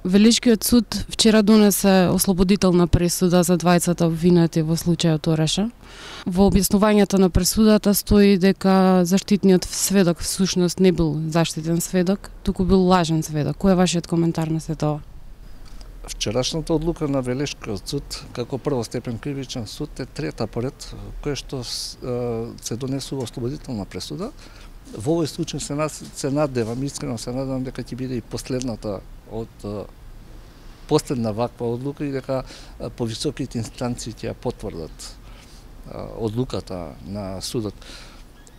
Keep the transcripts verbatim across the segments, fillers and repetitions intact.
Велишкиот суд вчера донесе ослободителна пресуда за двајцата обвинети во случајот Ореше. Во објаснувањето на пресудата стои дека заштитниот сведок всушност не бил заштитен сведок, туку бил лажен сведок. Кој е вашиот коментар на сето ова? Вчерашната одлука на Велишкиот суд како првостепен кривичен суд е трета поред која што се донесува ослободителна пресуда. Во овој случај се, нас, се надевам, искрено се надевам дека ќе биде и последната од последна ваква одлука и дека повисоките инстанции ќе ја потврдат одлуката на судот.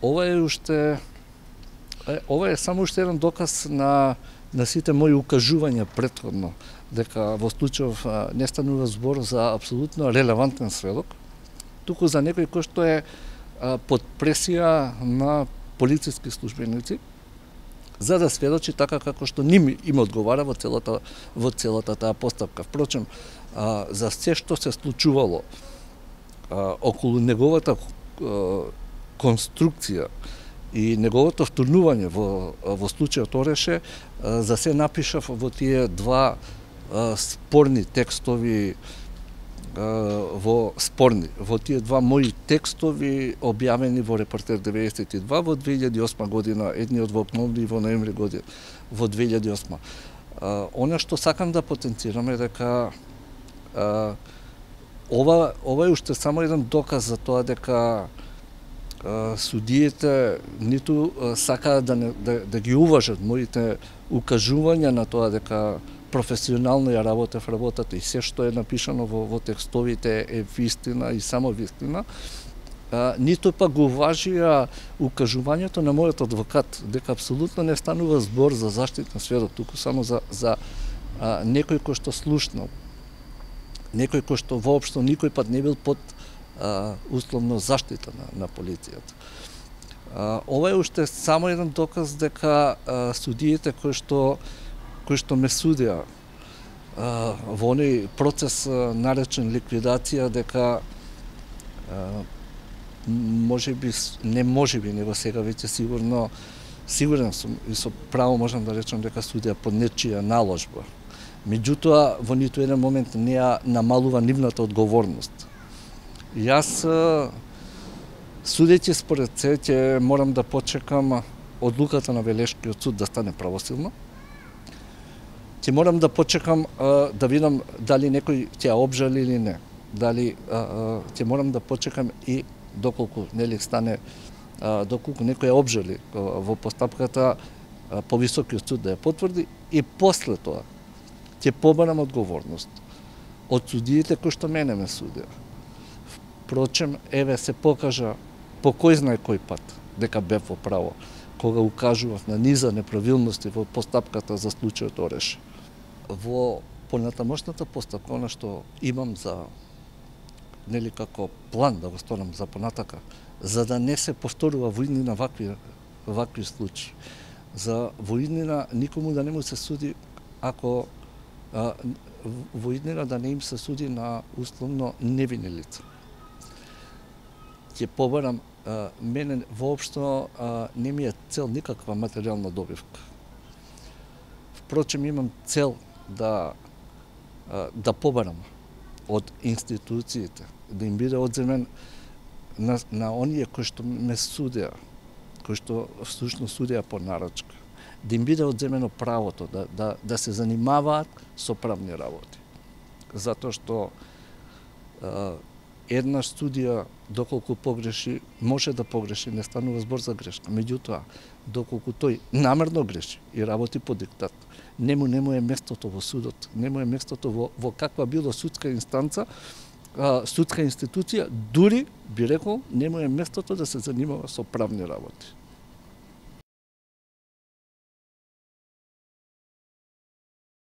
Ова е уште ова е само уште еден доказ на на сите мои укажувања претходно дека во случајов не станува збор за апсолутно релевантен сведок, туку за некој кој што е под пресија на полициски службеници за да сведочи така како што ним им одговара во целата во целата таа постапка. Впрочем, за се што се случувало околу неговата конструкција и неговото втурнување во во случајот Ореше, за се напишав во тие два спорни текстови во спорни во тие два мои текстови објавени во Репортер деветдесет и два во две илјади и осма година, едниот во октомври и во ноември година во две илјади и осма. Она што сакам да потенцирам е дека а, ова ова е уште само еден доказ за тоа дека а, судиите ниту а, сакаат да, не, да да ги уважат моите укажувања на тоа дека професионално ја работев работата и се што е напишано во, во текстовите е вистина и само вистина, а, ниту пак го уважија укажувањето на мојот адвокат дека апсолутно не станува збор за заштитен сведок, туку само за, за а, некој кој што слушнал, некој кој што воопшто никој пат не бил под а, условно заштита на, на полицијата. А, ова е уште само еден доказ дека а, судиите кои што кои што ме судија а, во оној процес а, наречен ликвидација, дека а, може би, не може би, него сега веќе сигурно, сигурен сум и со право можам да речам дека судија под нечија наложба. Меѓутоа, во ниту еден момент не ја намалува нивната одговорност. Јас, судејќи според се, ќе морам да почекам одлуката на Велишкиот суд да стане правосилно. Ќе морам да почекам а, да видам дали некој ќе ја обжали или не. Дали а, а, ќе морам да почекам и доколку нели стане а, доколку некој ја обжали а, во постапката а, повисокиот суд да ја потврди и после тоа ќе побарам одговорност од судиите кои што мене ме судија. Впрочем, еве се покажа по кој знае кој пат дека бев во право кога укажував на низа неправилности во постапката за случајот Ореше. Во понатамошната постапка, она што имам за нели како план да го сторам за понатака, за да не се повторува во иднина вакви вакви случаи. За во иднина никому да не му се суди ако а, во иднина да не им се суди на условно невини лица. Ќе побарам, а, мене воопшто а, не ми е цел никаква материјална добивка. Впрочем, имам цел да а, да побарам од институциите, да им биде одземен на, на оние кои што ме судеа, кои што всушност судеа по нарачка, да им биде одземено правото да, да, да се занимаваат со правни работи. Затоа што а, еднаш судија, доколку погреши, може да погреши, не станува збор за грешка. Меѓутоа, доколку тој намерно греши и работи по диктат, нему нему е местото во судот, нему е местото во, во каква било судска инстанца, а, судска институција, дури, би рекол, нему е местото да се занимава со правни работи.